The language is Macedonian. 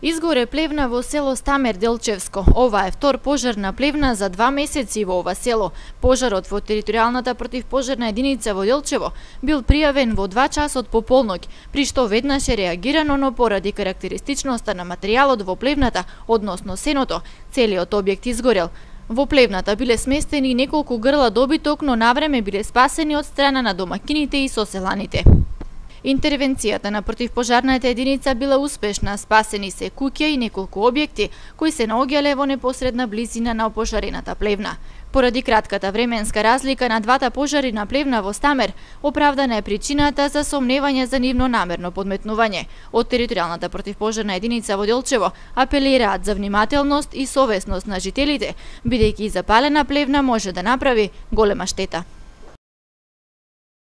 Изгоре плевна во село Стамер, Делчевско. Ова е втор пожар на плевна за 2 месеци во ова село. Пожарот во територијалната противпожарна единица во Делчево бил пријавен во 2 часот по полноќ, при што веднаш е реагирано, но поради карактеристичноста на материјалот во плевната, односно сеното, целиот објект изгорел. Во плевната биле сместени неколку грла добиток, но навреме биле спасени од страна на домакините и соселаните. Интервенцијата на противпожарната единица била успешна, спасени се куќа и неколку објекти кои се наоѓале во непосредна близина на опожарената плевна. Поради кратката временска разлика на двата пожари на плевна во Стамер, оправдана е причината за сомневање за нивно намерно подметнување. Од територијалната противпожарна единица во Делчево апелираат за внимателност и совесност на жителите, бидејќи запалена плевна може да направи голема штета.